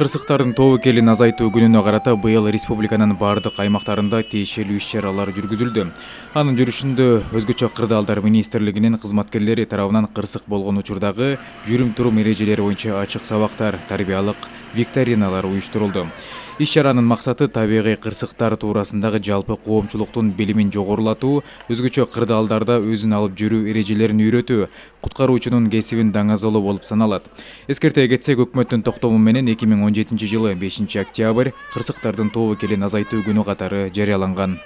Кырсыктардын тобокелин азайтуу күнүнө карата быйыл республиканын бардык аймактарында тиешелүү иш-чаралар жүргүзүлдү. Анын жүрүшүндө Өзгөчө кырдаалдар министрлигинин кызматкерлери тарабынан кырсык болгон учурдагы жүрүм-турум эрежелери боюнча ачык сабактар, тарбиялык викториналар уюштурулду. Иш-чаранын максаты табигый кырсыктар туурасындагы жалпы коомчулуктун билимин жогорулатуу, өзгөчө кырдаалдарда өзүн алып жүрүү эрежелерин үйрөтүү, куткаруучунун кесибин даңазалоо болуп саналат. Эскерте кетсек, өкмөттүн токтому менен 2017 жылы 5 октябрь кырсыктардын тобокелин азайтуу күнү катары жарыяланган.